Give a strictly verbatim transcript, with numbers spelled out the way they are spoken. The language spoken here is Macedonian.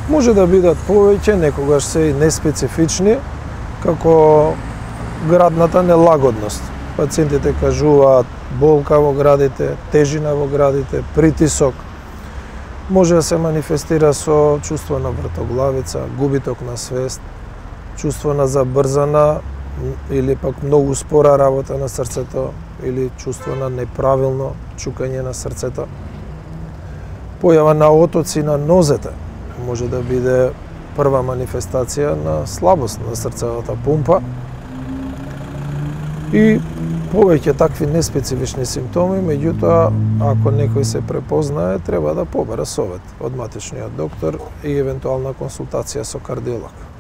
Може да бидат повеќе, некогаш се и неспецифични, како градната нелагодност. Пациентите кажуваат болка во градите, тежина во градите, притисок. Може да се манифестира со чувство на вртоглавица, губиток на свест, чувство на забрзана или пак многу спора работа на срцето, или чувство на неправилно чукање на срцето. Појава на отоци на нозете може да биде прва манифестација на слабост на срцевата пумпа. И повеќе такви неспецифични симптоми, меѓутоа, ако некој се препознае, треба да побара совет од матичниот доктор и евентуална консултација со кардиолог.